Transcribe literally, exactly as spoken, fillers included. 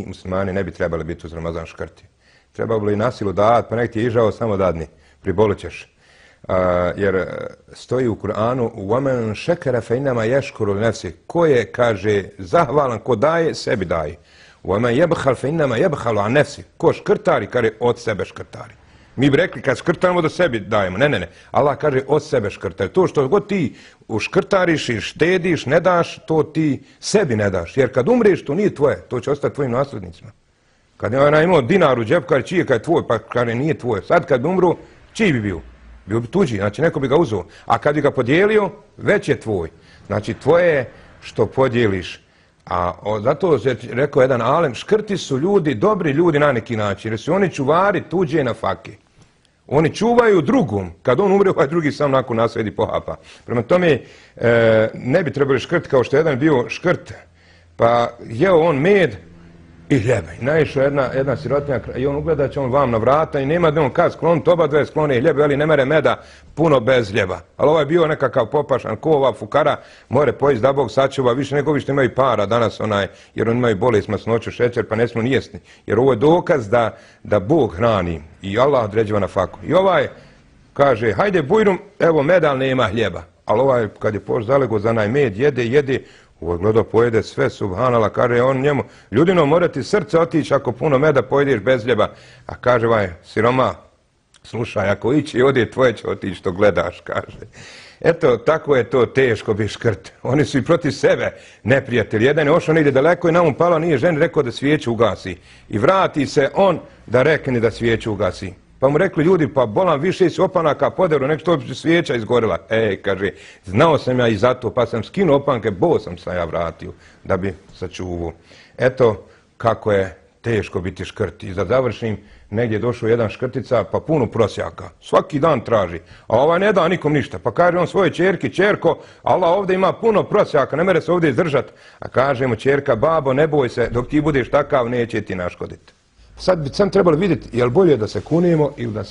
muslimani ne bi trebali biti uz Ramazan škrti. Trebalo bi na silu dat, pa nek ti je ižao samo dadni, pribolit ćeš. Uh, jer stoji u Kur'anu وَمَنْ شَكَرَ فَإِنَّمَا يَشْكُرُ لِنَفْسِهِ. Ko je, kaže, zahvalan, ko daje, sebi daje. وَمَنْ يَبْخَلْ فَإِنَّمَا يَبْخَلُ عَنْ نَفْسِهِ. Ko škrtari, kaže, od sebe škrtari. Mi bi rekli kad škrtamo da sebi dajemo. Ne, ne, ne. Allah kaže od sebe škrtari. To što god ti uškrtariš i štediš, ne daš, to ti sebi ne daš. Jer kad umreš, to nije tvoje. To će ostati tvojim naslednicima. Kad je ona imao dinar u džepu, kaže čiji je, kad je tvoj, pa kaže nije tvoj. Sad kad bi umru, čiji bi bio? Bio bi tuđi, znači neko bi ga uzeo. A kad bi ga podijelio, već je tvoj. Znači tvoje je što podijeliš. A o, zato je rekao jedan alem, škrti su ljudi, dobri ljudi na neki način, jer su oni čuvari tuđe na fake. Oni čuvaju drugom. Kad on umre, ovaj drugi sam nakon nasledi pohapa. Prema tome, e, ne bi trebali škrti kao što jedan bio škrt. Pa jeo on med i hljeba. I naišao jedna, jedna sirotinja i on ugleda će on vam na vrata i nema da on kad skloniti, oba dve sklone hljebe, ali ne mere meda puno bez hljeba. Ali ovaj je bio nekakav popašan, ko ova fukara, more pojesti da Bog sačuva, više nego vi što imaju para danas, onaj, jer oni imaju bolest masnoću, šećer, pa ne smiju nijesti. Jer ovo je dokaz da, da Bog hrani i Allah određiva na faku. I ovaj kaže, hajde bujrum, evo meda, ali nema hljeba. Ali ovaj, kad je poš zalego za onaj med, jede, jede, ovo gleda pojede sve, subhanala, kaže on njemu, ljudino, mora ti srce otići ako puno meda pojedeš bez hljeba. A kaže ovaj siroma, slušaj, ako ići ode, tvoje će otići što gledaš, kaže. Eto, tako je to teško bi škrt. Oni su i protiv sebe neprijatelji. Jedan je ošao negdje daleko i na mu palo, nije ženi rekao da svijeću ugasi. I vrati se on da rekne da svijeću ugasi. Pa mu rekli ljudi, pa bolam više si opanaka poderu, nek što bi svijeća izgorila. Ej, kaže, znao sam ja i zato, pa sam skinuo opanke, bo sam se ja vratio da bi sačuvao. Eto kako je teško biti škrt. I da završim, negdje je došao jedan škrtica, pa puno prosjaka. Svaki dan traži. A ovaj ne da nikom ništa. Pa kaže on svoje čerki, čerko, Allah ovdje ima puno prosjaka, ne mere se ovdje izdržati. A kaže mu čerka, babo, ne boj se, dok ti budeš takav, neće ti naškoditi. Sad bi sam trebali vidjeti, je li bolje da se kunemo ili da se